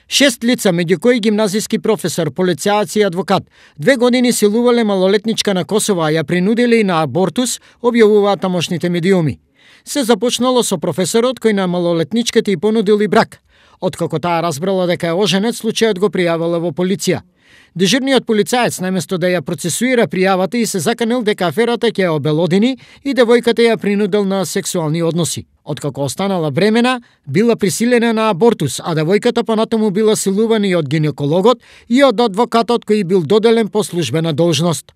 6 лица, меѓу кои гимназиски професор, полицаец и адвокат, 2 години силувале малолетничка на Косово, а ја принудиле и на абортус, објавуваат тамошните медиуми. Се започнало со професорот кој на малолетничката и понудил и брак. Откако таа разбрала дека е оженет, случајот го пријавила во полиција. Дежурниот полицаец, наместо да ја процесуира пријавата, и се заканил дека аферата ќе ја обелодени и девојката ја принудил на сексуални односи. Откако останала бремена, била присилена на абортус, а девојката понатаму била силувана и од гинекологот и од адвокатот кој бил доделен по службена должност.